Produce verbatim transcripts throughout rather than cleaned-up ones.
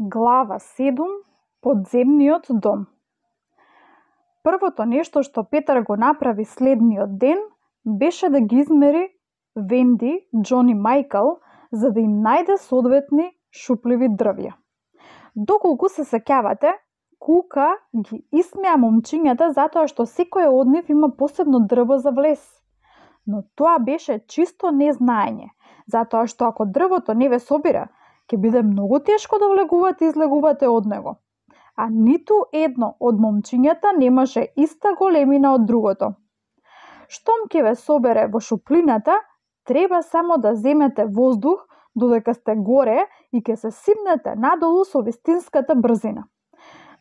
Глава седум. Подземниот дом. Првото нешто што Петар го направи следниот ден беше да ги измери Венди, Џон и Мајкл, за да им најде соодветни шупливи дрвја. Доколку се сеќавате, Кука ги исмеа момчињата затоа што секој од нив има посебно дрво за влез. Но тоа беше чисто незнаење, затоа што ако дрвото не ве собира, ќе биде многу тешко да влегувате и излегувате од него. А ниту едно од момчињата немаше иста големина од другото. Штом ќе ве собере во шуплината, треба само да земете воздух додека сте горе и ќе се сипнете надолу со вистинската брзина.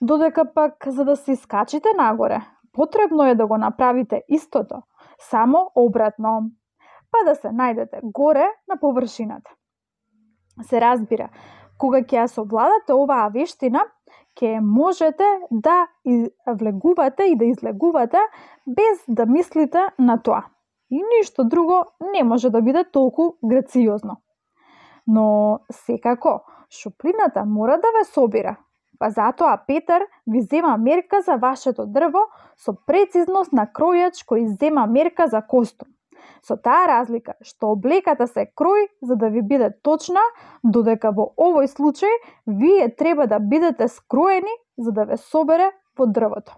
Додека пак за да се искачите нагоре, потребно е да го направите истото, само обратно, па да се најдете горе на површината. Се разбира, кога ќе ја совладате оваа вештина, ќе можете да влегувате и да излегувате без да мислите на тоа. И ништо друго не може да биде толку грациозно. Но секако, шуплината мора да ве собира, па затоа Петар ви зема мерка за вашето дрво со прецизност на кројач кој зема мерка за костум. Со таа разлика што облеката се крои за да ви биде точна, додека во овој случај вие треба да бидете скроени за да ве собере во дрвото.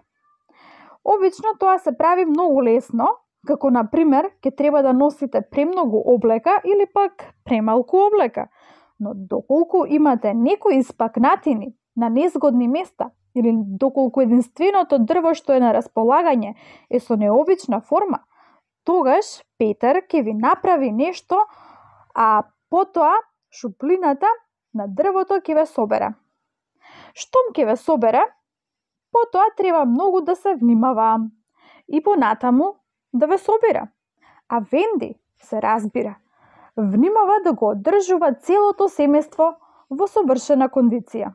Обично тоа се прави многу лесно, како на пример ќе треба да носите премногу облека или пак премалку облека, но доколку имате некои испакнатини на незгодни места или доколку единственото дрво што е на располагање е со необична форма, тогаш Петар ќе ви направи нешто, а потоа шуплината на дрвото ќе ве собере. Штом ќе ве собере, потоа треба многу да се внимава и понатаму да ве собира. А Венди, се разбира, внимава да го одржува целото семејство во совршена кондиција.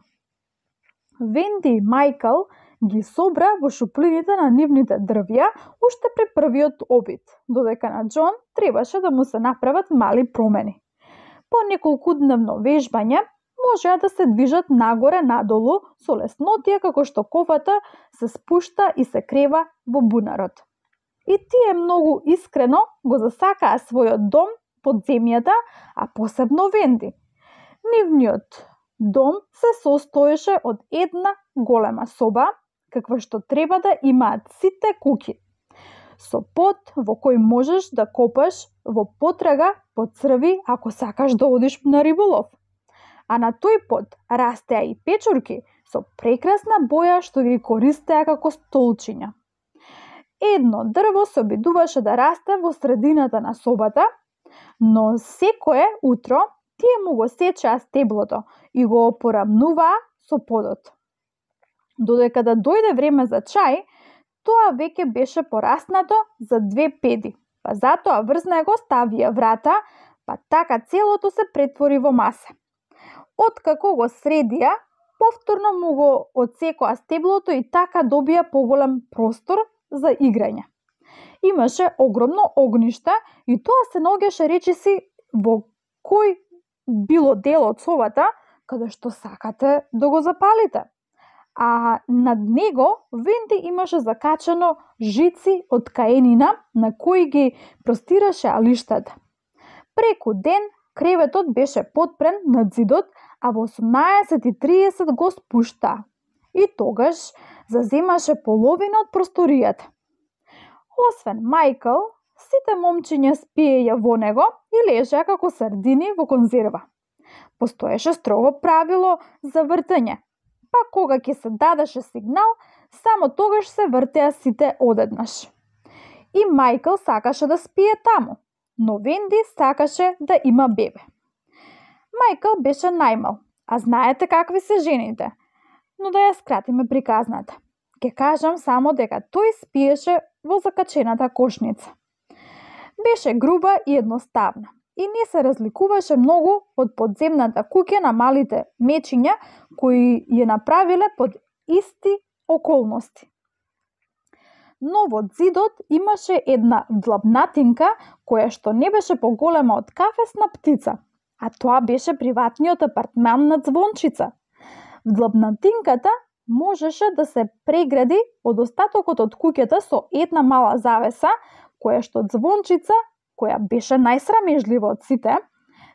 Венди и Мајкл ги собра во шуплините на нивните дрвја уште при првиот обид, додека на Џон требаше да му се направат мали промени. По неколкудневно вежбање можеа да се движат нагоре-надолу со леснотија како што ковата се спушта и се крева во бунарот. И тие многу искрено го засакаа својот дом под земјата, а посебно Венди. Нивниот дом се состоеше од една голема соба, каква што треба да имаат сите куќи, со под во кој можеш да копаш во потрага по црви ако сакаш да одиш на риболов. А на тој под растеа и печурки со прекрасна боја што ги користеа како столчиња. Едно дрво се обидуваше да расте во средината на собата, но секое утро тие му го сечеа стеблото и го опорамнуваа со подот. Додека да дојде време за чај, тоа веќе беше пораснато за две педи, па затоа врз него ставија врата, па така целото се претвори во маса. Откако го средија, повторно му го одсекоа стеблото и така добија поголем простор за играње. Имаше огромно огниште и тоа се наоѓаше речиси во кој било дел од собата каде што сакате да го запалите. А над него Венди имаше закачано жици од каенина на кои ги простираше алиштата. Преку ден креветот беше подпрен над зидот, а во осумнаесет и триесет го спушта. И тогаш заземаше половина од просторијата. Освен Мајкл, сите момчиња спиеја во него и лежеа како сардини во конзерва. Постоеше строго правило за вртење, па кога ќе се дадеше сигнал, само тогаш се вртеа сите одеднаш. И Мајкл сакаше да спие таму, но Венди сакаше да има бебе. Мајкл беше најмал, а знаете какви се жените, но да ја скратиме приказната. Ке кажам само дека тој спиеше во закачената кошница. Беше груба и едноставна и не се разликуваше многу од подземната куќа на малите мечиња кои ја направиле под исти околности. Но во зидот имаше една длабнатинка која што не беше поголема од кафесна птица, а тоа беше приватниот апартман на Звончица. Длабнатинката можеше да се прегради од остатокот од куќата со една мала завеса, која што Звончица, која беше најсрамежлива од сите,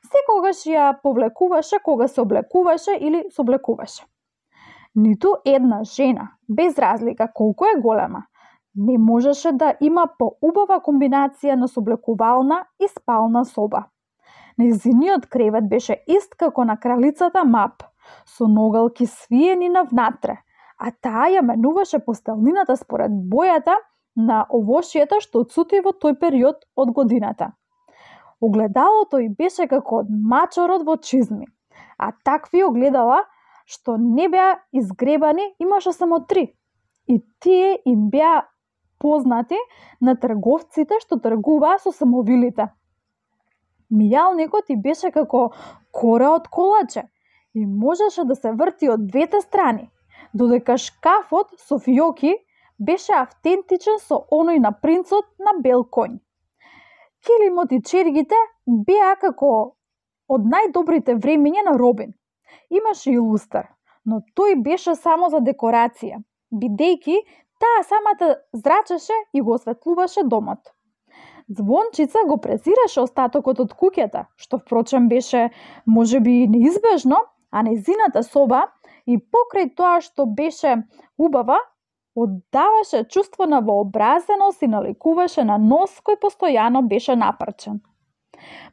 секогаш ја повлекуваше кога се облекуваше или сооблекуваше. Ниту една жена, без разлика колку е голема, не можеше да има поубава комбинација на сооблекувална и спална соба. Нејзиниот кревет беше ист како на кралицата Мап, со ногалки свиени навнатре, а таа ја менуваше постелнината според бојата на овошјата што цути во тој период од годината. Огледалото ѝ беше како од мачорот во чизми, а такви огледала што не беа изгребани имаше само три, и тие им беа познати на трговците што тргуваа со самовилите. Мијалникот и беше како кора од колаче и можеше да се врти од двете страни, додека шкафот со фиоки беше автентичен со оној на принцот на бел конј. Килимот и чергите беа како од најдобрите времиња на Робин. Имаше и лустар, но тој беше само за декорација, бидејќи таа самата зрачеше и го осветлуваше домот. Звончица го презираше остатокот од куќата, што впрочем беше можеби неизбежно, а нејзината соба и покрај тоа што беше убава, оддаваше чувство на вообразеност и наликуваше на нос кој постојано беше напрчен.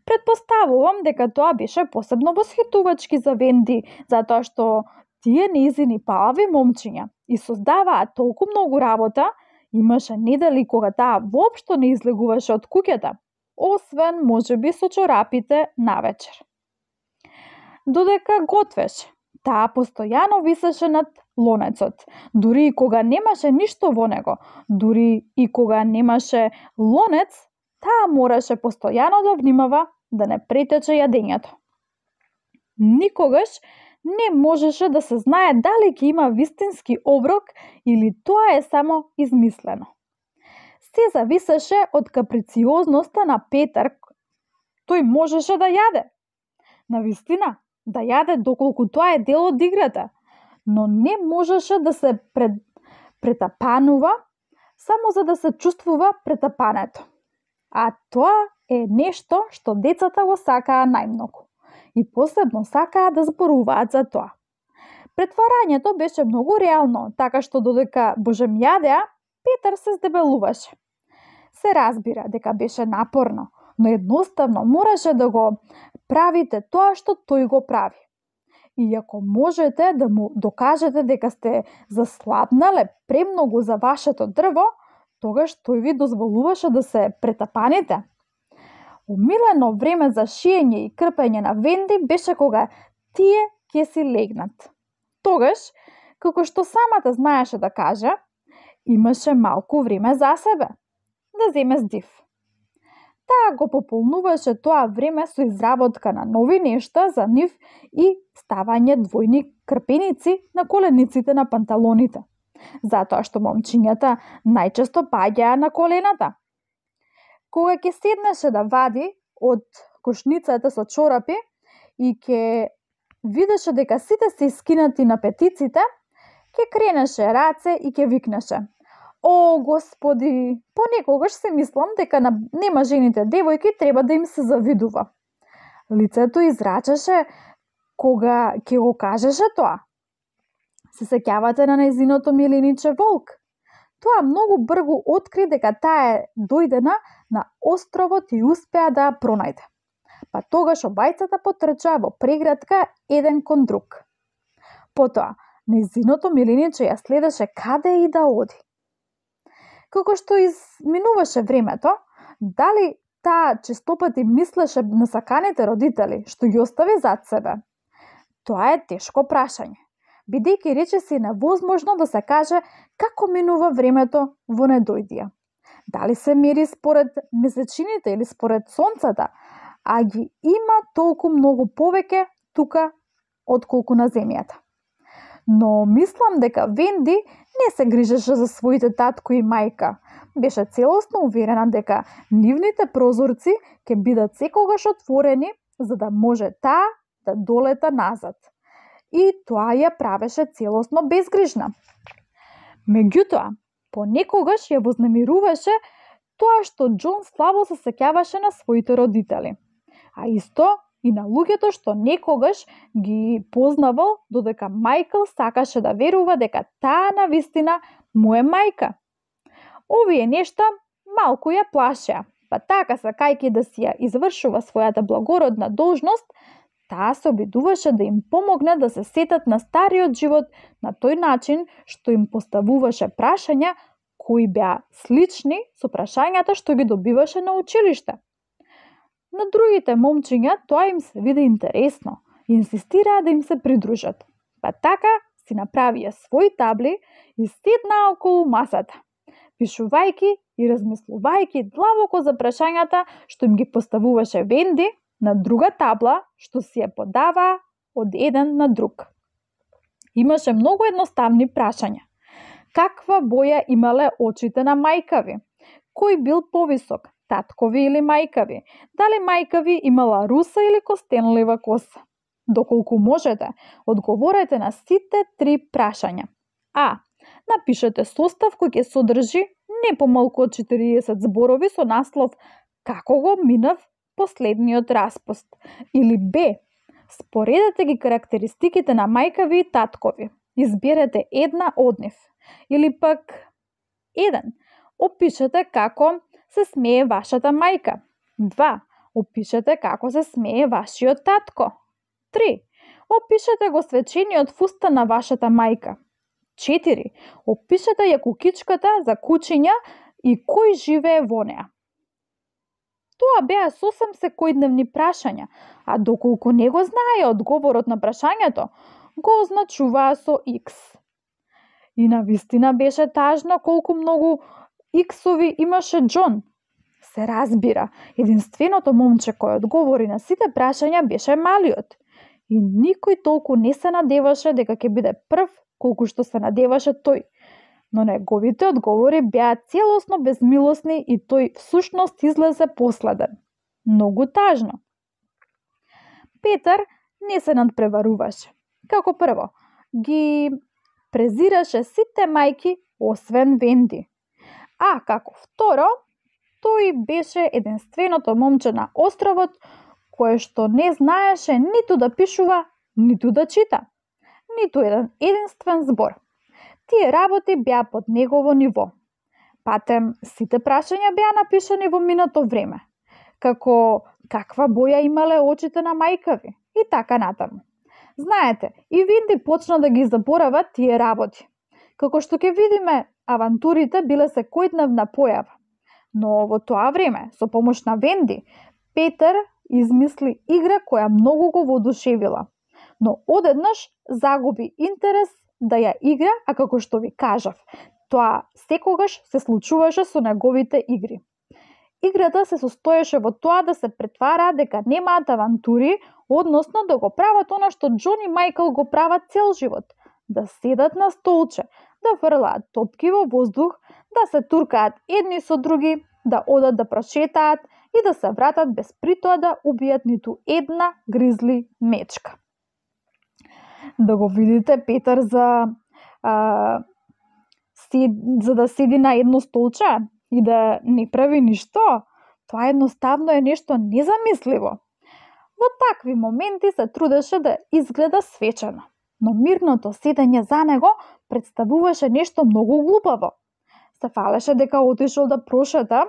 Предпоставувам дека тоа беше посебно восхитувачки за Венди, затоа што тие нејзини палави момчиња и создаваа толку многу работа, имаше недели кога таа воопшто не излегуваше од куќата, освен можеби со чорапите навечер. Додека готвеше, таа постојано висеше над лонецот, дури и кога немаше ништо во него, дури и кога немаше лонец, таа мораше постојано да внимава да не претече јадењето. Никогаш не можеше да се знае дали ќе има вистински оброк или тоа е само измислено. Се зависеше од каприциозноста на Петар. Тој можеше да јаде. Навистина, да јаде доколку тоа е дел од играта, но не можеше да се пред... претапанува само за да се чувствува претапането. А тоа е нешто што децата го сакаа најмногу и посебно сакаа да зборуваат за тоа. Претварањето беше многу реално, така што додека божем јадеа, Петар се здебелуваше. Се разбира дека беше напорно, но едноставно мораше да го правите тоа што тој го прави. И ако можете да му докажете дека сте заслабнале премногу за вашето дрво, тогаш тој ви дозволуваше да се претапаните. Умилено време за шиење и крпење на Венди беше кога тие ќе си легнат. Тогаш, како што самата знаеше да каже, имаше малку време за себе, да земе здив. Таа го пополнуваше тоа време со изработка на нови нешта за нив и ставање двојни крпеници на колениците на панталоните, затоа што момчињата најчесто паѓаа на колената. Кога ќе седнеше да вади од кошницата со чорапи и ќе видеше дека сите се искинати на петиците, ќе кренеше раце и ќе викнеше: "О, Господи, понекогаш се мислам дека на немажените девојки треба да им се завидува." Лицето израчеше кога ќе го кажеше тоа. Се сеќавате на нејзиното милиниче Волк? Тоа многу брзо откри дека таа е дојдена на островот и успеа да ја пронајде. Па тогаш обајцата потрчаа во преградка еден кон друг. Потоа, нејзиното милиниче ја следеше каде и да оди. Како што изминуваше времето, дали таа честопати мислеше на саканите родители што ги остави зад себе? Тоа е тешко прашање, бидејќи речиси невозможно да се каже како минува времето во недојдија. Дали се мери според месечините или според сонцата, а ги има толку многу повеќе тука отколку на земјата. Но мислам дека Венди не се грижеше за своите татко и мајка. Беше целосно уверена дека нивните прозорци ќе бидат секогаш отворени за да може таа да долета назад. и тоа ја правеше целосно безгрижна. Меѓутоа, понекогаш ја вознемируваше тоа што Џон слабо се сеќаваше на своите родители, а исто и на луѓето што некогаш ги познавал, додека Мајкл сакаше да верува дека таа навистина му е мајка. Овие нешта малку ја плашеа, па така сакајќи да си ја извршува својата благородна должност, таа се обидуваше да им помогне да се сетат на стариот живот на тој начин што им поставуваше прашања кои беа слични со прашањата што ги добиваше на училиште. На другите момчиња тоа им се виде интересно и инсистираа да им се придружат. Па така си направија свои табли и седнаа околу масата, пишувајќи и размислувајќи длабоко за прашањата што им ги поставуваше Венди на друга табла што си ја подаваа од еден на друг. Имаше многу едноставни прашања. Каква боја имале очите на мајка ви? Кој бил повисок, таткови или мајка ви? Дали мајка ви имала руса или костенлива коса? Доколку можете, одговорете на сите три прашања. А. Напишете состав кој ќе содржи не помалку од четириесет зборови со наслов "Како го минав последниот распуст" или Б. Споредете ги карактеристиките на мајка ви и таткови. Изберете една од нив. Или пак еден. Опишете како се смее вашата мајка. два. Опишете како се смее вашиот татко. три. Опишете го свечениот фустан на вашата мајка. четири. Опишете ја кукичката за кучиња и кој живее во неа. Тоа беа сосем секојдневни прашања, а доколку не го знаеја одговорот на прашањето, го означуваа со X. И навистина беше тажно колку многу иксови имаше Џон. Се разбира, единственото момче кој одговори на сите прашања беше малиот. И никој толку не се надеваше дека ќе биде прв колку што се надеваше тој. Но неговите одговори беа целосно безмилосни и тој всушност излезе последен. Многу тажно. Петар не се надпреваруваше. Како прво, ги презираше сите мајки освен Венди. А како второ, тој беше единственото момче на островот кое што не знаеше ниту да пишува, ниту да чита. Ниту еден единствен збор. Тие работи беа под негово ниво. Патем, сите прашања беа напишани во минато време, како каква боја имале очите на мајка ви и така натаму. Знаете, и Венди почна да ги заборава тие работи. Како што ќе видиме, авантурите биле секојдневна појава. Но во тоа време, со помош на Венди, Петар измисли игра која многу го воодушевила. Но одеднаш загуби интерес да ја игра, а како што ви кажав, тоа секогаш се случуваше со неговите игри. Играта се состоеше во тоа да се претвара дека немаат авантури, односно да го прават она што Џон и Мајкл го прават цел живот, да седат на столче, да фрлаат топки во воздух, да се туркаат едни со други, да одат да прошетаат и да се вратат без притоа да убијат ниту една гризли мечка. Да го видите Петар за а, си, за да седи на едно столче и да не прави ништо, тоа едноставно е нешто незамисливо. Во такви моменти се трудеше да изгледа свечено, но мирното седење за него представуваше нешто многу глупаво. Се фалеше дека отишол да прошета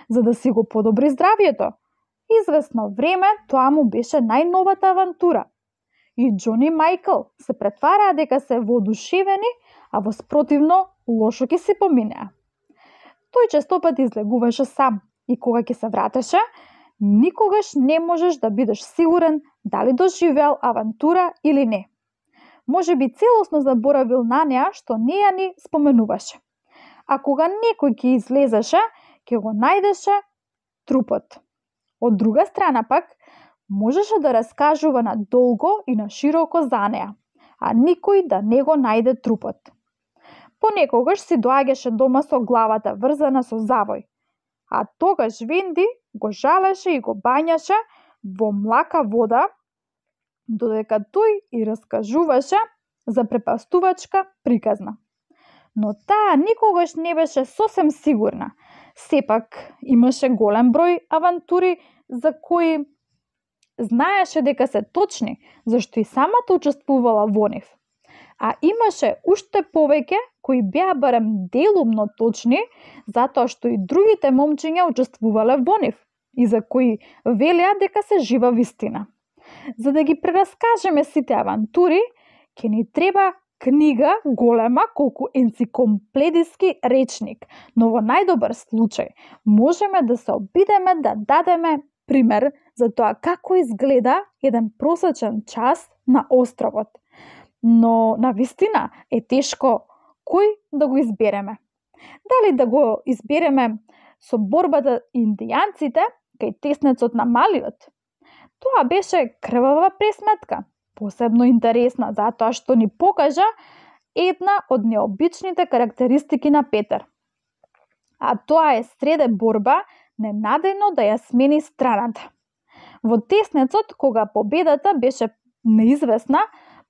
за да си го подобри здравието. Извесно време тоа му беше најновата авантура. И Џон и Мајкл се претвараа дека се воодушевени, а воспротивно лошо ќе се поминеа. Тој честопат излегуваше сам и кога ќе се вратеше, никогаш не можеш да бидеш сигурен дали доживеал авантура или не. Може би целосно заборавил на неа што не ја ни споменуваше. А кога некој ќе излезеше, ќе го најдеше трупот. Од друга страна пак, можеше да раскажува на долго и на широко за неа, а никој да не го најде трупот. Понекогаш си доаѓаше дома со главата врзана со завој, а тогаш Венди го жалеше и го бањаше во млака вода додека тој и раскажуваше за препастувачка приказна. Но таа никогаш не беше сосем сигурна. Сепак имаше голем број авантури за кои знаеше дека се точни, зашто и самата учествувала во нив. А имаше уште повеќе кои беа барем делумно точни, затоа што и другите момчиња учествувале во нив и за кои велеа дека се жива вистина. За да ги прераскажеме сите авантури, ќе ни треба книга голема колку енциклопедиски речник, но во најдобар случај можеме да се обидеме да дадеме пример за тоа како изгледа еден просечен час на островот. Но на вистина е тешко кој да го избереме. Дали да го избереме со борбата индијанците кај теснецот на Малиот? Тоа беше крвава пресметка, посебно интересна затоа што ни покажа една од необичните карактеристики на Петар. А тоа е среде борба ненадејно да ја смени страната. Во теснецот, кога победата беше неизвестна,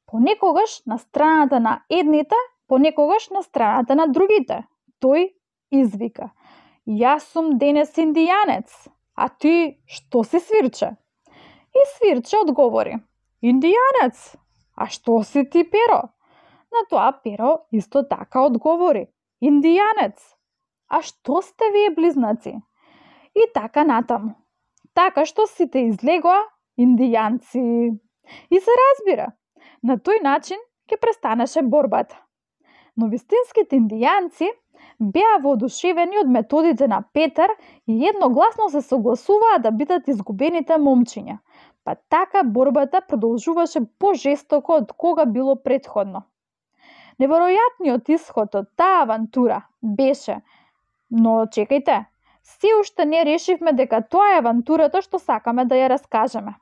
понекогаш на страната на едните, понекогаш на страната на другите, тој извика: "Јас сум денес индијанец, а ти што си, Свирче?" И Свирче одговори: "Индијанец, а што си ти, Перо?" На тоа Перо исто така одговори: "Индијанец, а што сте вие близнаци?" И така натаму. Така што сите излегоа индијанци. И се разбира, на тој начин ќе престанеше борбата. Но вистинските индијанци беа воодушевени од методите на Петар и едногласно се согласуваа да бидат изгубените момчиња. Па така борбата продолжуваше пожестоко од кога било претходно. Неверојатниот исход од таа авантура беше: "Но чекајте, се уште не решивме дека тоа е авантурата што сакаме да ја раскажеме.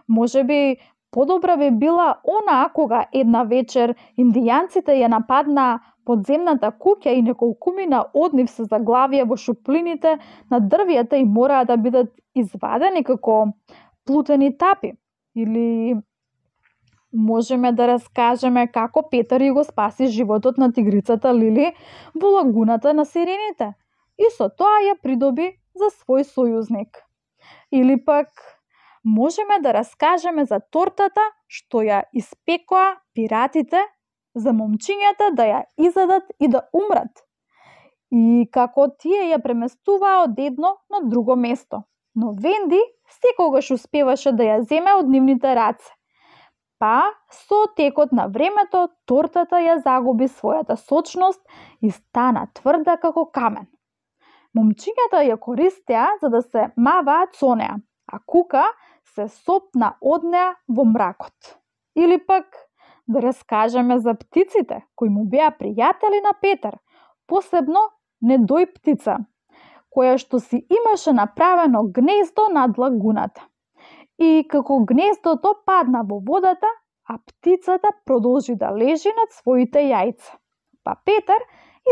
Можеби подобра би била онаа кога една вечер индијанците ја нападнаа подземната куќа и неколкумина од нив се заглавија во шуплините на дрвјата и мораа да бидат извадени како плутени тапи." Или можеме да раскажеме како Петар и го спаси животот на тигрицата Лили во лагуната на сирените и со тоа ја придоби за свој сојузник. Или пак можеме да раскажеме за тортата што ја испекоа пиратите за момчињата да ја изедат и да умрат. И како тие ја преместуваа од едно на друго место. Но Венди секогаш успеваше да ја земе од нивните раце. Па, со текот на времето, тортата ја загуби својата сочност и стана тврда како камен. Момчињата ја користеа за да се маваат со неа, а Кука се сопна од неа во мракот. Или пак да раскажеме за птиците кои му беа пријатели на Петар, посебно Недој птица, која што си имаше направено гнездо над лагуната. И како гнездото падна во водата, а птицата продолжи да лежи над своите јајца. Па Петар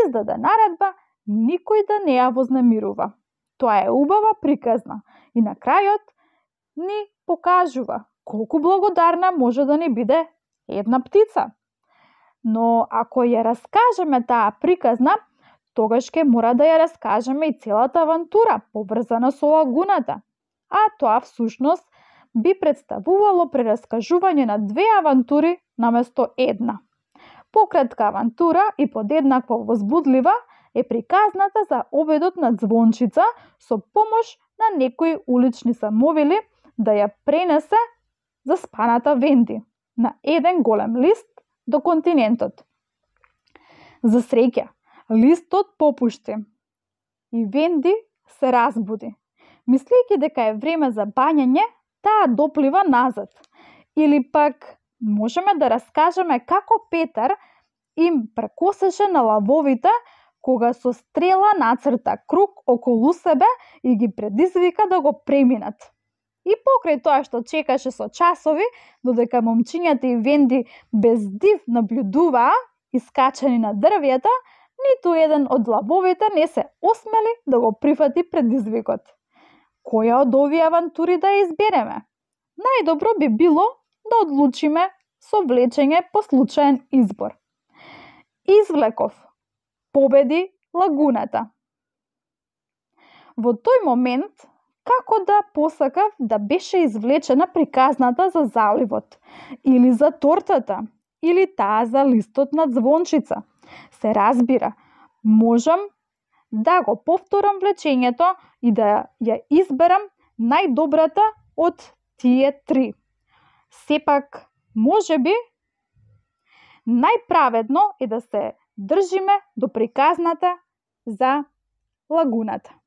издаде наредба никој да не ја вознемирува. Тоа е убава приказна и на крајот ни покажува колку благодарна може да ни биде една птица. Но ако ја раскажеме таа приказна, тогаш ќе мора да ја раскажеме и целата авантура поврзана со лагуната. А тоа всушност би представувало прераскажување на две авантури наместо една. Пократка авантура и подеднакво возбудлива е приказната за обедот на Звончица со помош на некои улични самовили да ја пренесе заспаната Венди на еден голем лист до континентот. За среќа, листот попушти и Венди се разбуди. Мислејќи дека е време за бањање, таа доплива назад. Или пак можеме да раскажеме како Петар им прекосеше на лавовите кога со стрела нацрта круг околу себе и ги предизвика да го преминат. И покрај тоа што чекаше со часови, додека момчињата и Венди без див наблюдуваа искачени на дрвјата, ниту еден од лавовите не се осмели да го прифати предизвикот. Која од овие авантури да ја избереме? Најдобро би било да одлучиме со влечење по случаен избор. Извлеков, победи лагуната. Во тој момент, како да посакав да беше извлечена приказната за заливот, или за тортата, или таа за листот на звончица. Се разбира, можам да го повторам влечењето и да ја изберам најдобрата од тие три. Сепак, можеби, најправедно е да се држиме до приказната за лагуната.